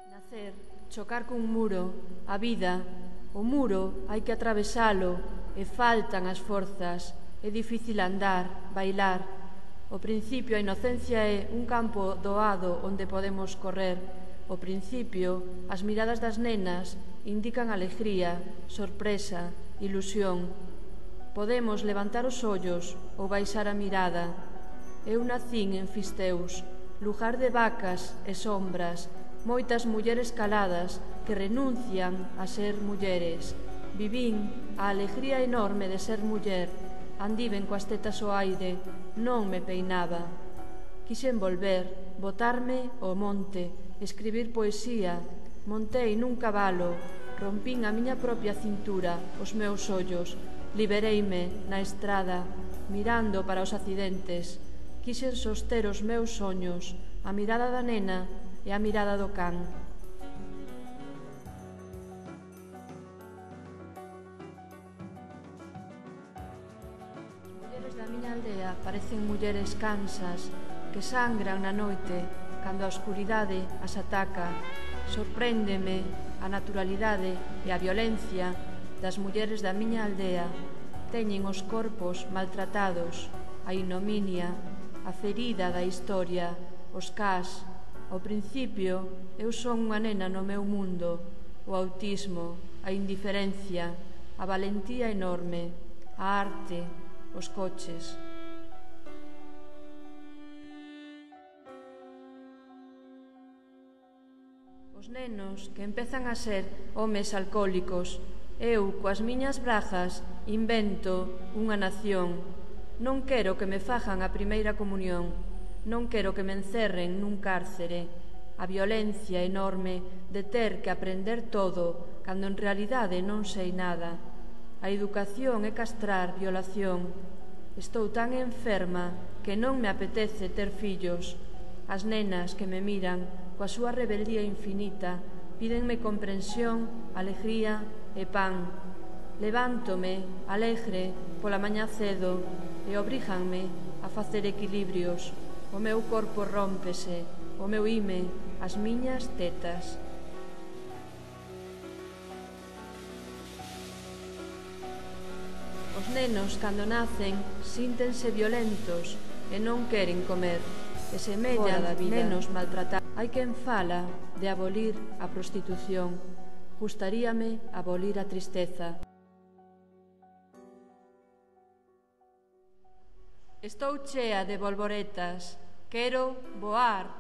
Nacer, chocar cun muro, a vida, o muro hai que atravesalo e faltan as forzas, é difícil andar, bailar. O principio a inocencia é un campo doado onde podemos correr. O principio, as miradas das nenas indican alegría, sorpresa, ilusión. Podemos levantar os ollos ou baixar a mirada. Eu nacín en Fisteus, lugar de vacas e sombras, moitas mulleres caladas que renuncian a ser mulleres. Vivín a alegría enorme de ser muller, andiven coas tetas ao aire, non me peinaba. Quixen volver, botarme ao monte, escribir poesía, montei nun cabalo, rompín a miña propia cintura, os meus ollos, libereime na estrada, mirando para os accidentes. Quixen soster os meus soños, a mirada da nena e a mirada do can. As mulleres da miña aldea parecen mulleres cansas que sangran na noite cando a oscuridade as ataca. Sorpréndeme a naturalidade e a violencia das mulleres da miña aldea. Teñen os corpos maltratados, a ignominia, a ferida da historia, os cas. Ao principio, eu son unha nena no meu mundo, o autismo, a indiferencia, a valentía enorme, a arte, os coches. Os nenos que empezan a ser homes alcohólicos, eu, coas miñas bragas, invento unha nación. Non quero que me fajan a primeira comunión, non quero que me encerren nun cárcere. A violencia enorme de ter que aprender todo cando en realidade non sei nada. A educación é castrar violación. Estou tan enferma que non me apetece ter fillos. As nenas que me miran coa súa rebeldía infinita pídenme comprensión, alegría e pan. Levántome, alegre, pola mañá cedo e obríganme a facer equilibrios. O meu corpo rómpese, o meu ime, as miñas tetas. Os nenos, cando nacen, síntense violentos e non queren comer, e semellan nenos maltratados. Hai quen fala de abolir a prostitución. Gustaríame abolir a tristeza. Estou chea de bolboretas. Quero voar.